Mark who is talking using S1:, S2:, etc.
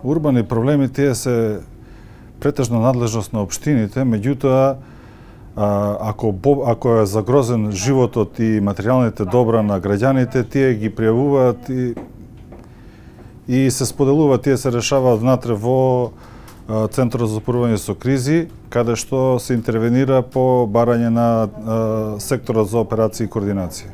S1: Урбани проблеми тие се претежно надлежност на општините, меѓутоа ако е загрозен животот и материјалните добра на граѓаните, тие ги пријавуваат и се споделуваат, тие се решаваат внатре во Центарот за управување со кризи, каде што се интервенира по барање на секторот за операции и координација.